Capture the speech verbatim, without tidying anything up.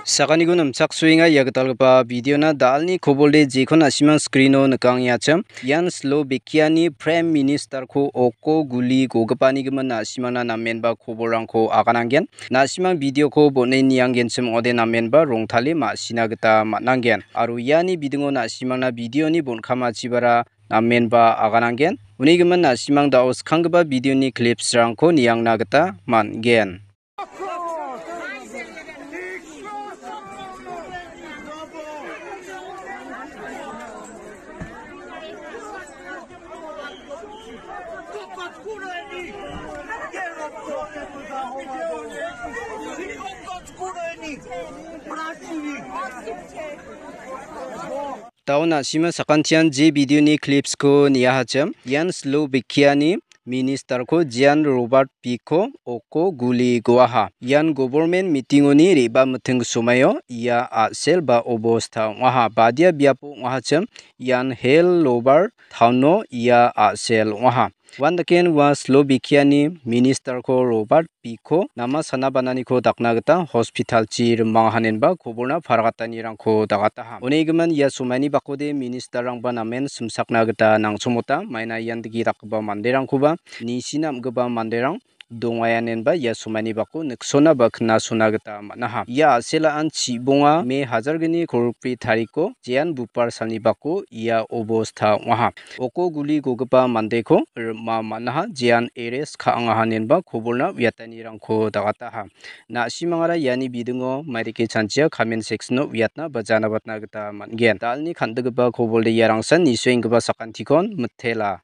Sakaniko nimchaksoenga ia gitalgipa videona. Da·alni kobolde jekon na·simang screeno nikangengacha. Ian Slovakiani Prime Ministerko oko guli gogipani gimin na·simangna namenba kobolrangko agananggen. Na·simang videoko bon·e nianggenchim ong·ode namenba rongtale ma·sina gita man·anggen. Aro iani bidingo na·simangna videoni bon·kamachibara namenba agananggen. Uni gimin na·simang da·o skanggipa videoni clipsrangko niangna gita man·gen. Da·o na·sima sakantian je videoni clipsko niahachim. Ian Slovakiani Ministerko Jan Robert Fico oko guli goaha. Ian government meetingoni re·bamiting somaio ia a·sel ba obosta ong·aha. Badia biapo ong·ahachim. Ian Hel Lobar Tauno ia a·sel ong·aha. Uandaken ua Slovakiani Ministerko Robert Fico nama sana bananiko dakna gita hospitalchi rimangahanenba kobolna paragatanirangko dagataha. Onigimin ia somaini bakode ministerrangba namen simsakna gita nangchomota. Maina ian digi dakgipa manderangkoba nisina am·gipa manderang dongayanenba ia somaini bako niksona ba knasona gita man·aha. Ia a·selaan chibonga me hajargni kolgripi tariko jean bupar salni bako ia obosta ong·aha. Oko guli gogipa mandeko rima man·aha, jean eres ka·angahanenba kobolna uiatanirangko dagataha. Na·simangara iani bidingo maidake chanchia comment sectiono uiatna ba janabatna gita man·gen. Da·alni kan·gipa kobolde iarangsan nisoenggipa sakantikon mitela.